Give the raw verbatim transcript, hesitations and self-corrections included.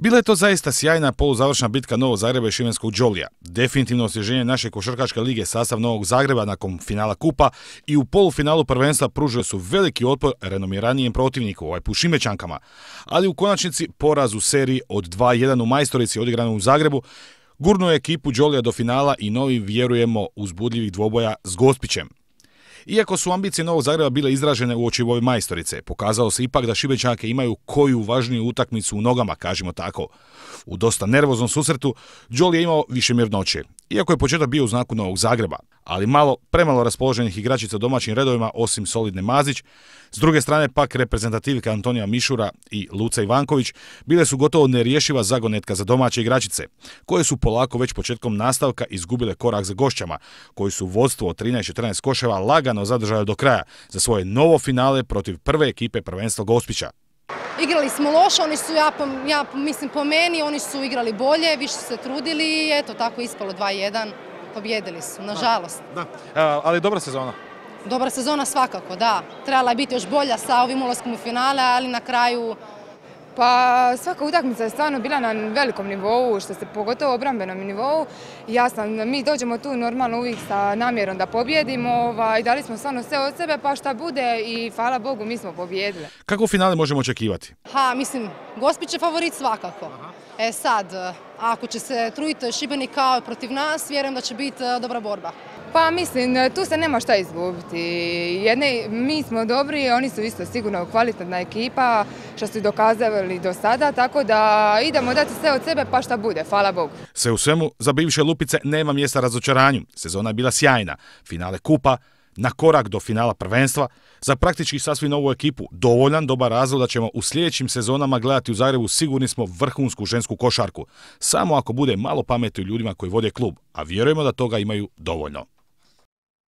Bila je to zaista sjajna poluzavršna bitka Novog Zagreba i šibenskog Đolija. Definitivno osvježenje naše košarkaške lige sastav Novog Zagreba nakon finala kupa i u polufinalu prvenstva pružili su veliki otpor renomiranijem protivniku, ovaj put Šibenčankama. Ali u konačnici poraz u seriji od dva jedan u Majstorici odigranu u Zagrebu gurnuo je ekipu Đolija do finala i novi, vjerujemo, uzbudljivih dvoboja s Gospićem. Iako su ambicije Novog Zagreba bile izražene u oči ove Majstorice, pokazalo se ipak da Šibenčanke imaju koju važniju utakmicu u nogama, kažemo tako. U dosta nervoznom susretu Đoli je imao više mirnoće, iako je početak bio u znaku Novog Zagreba, ali malo premalo raspoloženih igračica u domaćim redovima osim solidne Mazić. S druge strane pak reprezentativka Antonija Mišura i Luca Ivanković bile su gotovo nerješiva zagonetka za domaće igračice, koje su polako već početkom nastavka izgubile korak za gošćama, koji su vodstvo od trinaest četrnaest koševa lagano zadržali do kraja za svoje novo finale protiv prve ekipe prvenstva Gospića. Igrali smo loše, oni su, ja, ja mislim po meni, oni su igrali bolje, više su se trudili i eto tako ispalo dva jedan, pobjedili su, nažalost. Da, da. Ali dobra sezona. Dobra sezona svakako, da. Trebala je biti još bolja sa ovim ulaskom u finale, ali na kraju... Pa svaka utakmica je stvarno bila na velikom nivou, što se pogotovo obrambenom nivou. Jasno, mi dođemo tu normalno uvijek sa namjerom da pobjedimo i dali smo stvarno sve od sebe, pa šta bude i hvala Bogu mi smo pobjedili. Kako finale možemo očekivati? Ha, mislim, Gospić je favorit svakako. Aha. E sad, ako će se truditi Šibenik kao protiv nas, vjerujem da će biti dobra borba. Pa mislim, tu se nema šta izgubiti. Jedne, mi smo dobri, oni su isto sigurno kvalitetna ekipa, što su dokazali do sada, tako da idemo dati sve od sebe pa šta bude, hvala Bogu. Sve u svemu, za bivše Lupice nema mjesta razočaranju. Sezona je bila sjajna. Finale kupa, na korak do finala prvenstva, za praktički sasvim novu ekipu dovoljan dobar razlog da ćemo u sljedećim sezonama gledati u Zagrebu sigurni smo vrhunsku žensku košarku. Samo ako bude malo pameti ljudima koji vode klub, a vjerujemo da toga imaju dovoljno.